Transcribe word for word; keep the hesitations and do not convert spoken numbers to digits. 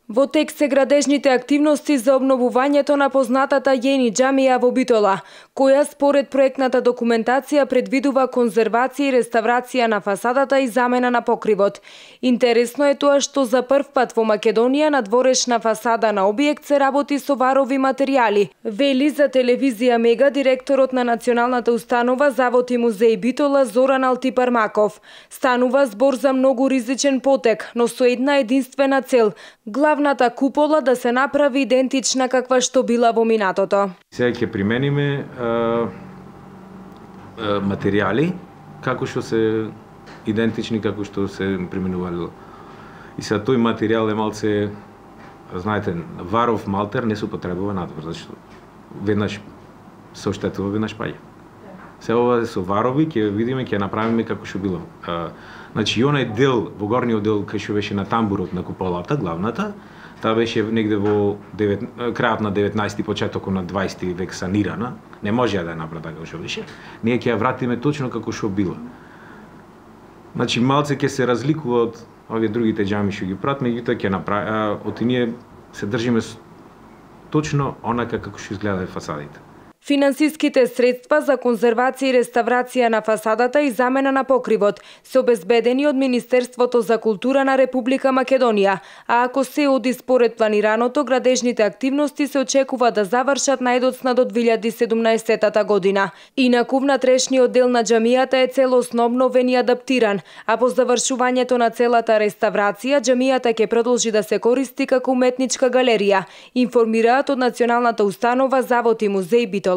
Во тек се градежните активности за обновувањето на познатата Јени џамија во Битола, која според проектната документација предвидува конзервација и реставрација на фасадата и замена на покривот. Интересно е тоа што за прв пат во Македонија на дворешна фасада на објект се работи со варови материјали, вели за телевизија Мега директорот на Националната установа Завод и музеј Битола Зоран Алтипармаков. Станува збор за многу ризичен потек, но со една единствена цел – главната купола да се направи идентична каква што била во минатото. Сега ќе примениме а, а, материјали како што се идентични како што се применувалило. И сега тој материјал е малце, знаете, варов малтер не се употребува надвор, зашто веднаш се оштетува, веднаш паѓа. Сега ова со варови ќе видиме, ќе направиме како што било. А, значи, и онај дел, во горниот дел кај што беше на тамбурот на куполата, главната, таа беше негде во девет, крајот на деветнаесети, почетокот на дваесети век санирана. Не може да ја направи така како што беше. Ние ќе ја вратиме точно како што била. Значи, малце ќе се разликува од овие другите џами што ги прават, меѓутоа ќе направи, од ние се држиме точно онака како што изгледаат фасадите. Финансиските средства за конзервација и реставрација на фасадата и замена на покривот се обезбедени од Министерството за култура на Република Македонија, а ако се оди според планираното, градежните активности се очекува да завршат најдоцна до две илјади и седумнаесета година. Инаку внатрешниот дел на џамијата е целосно обновен и адаптиран, а по завршувањето на целата реставрација, џамијата ќе продолжи да се користи како уметничка галерија, информираат од Националната установа Завод и музеј Битола.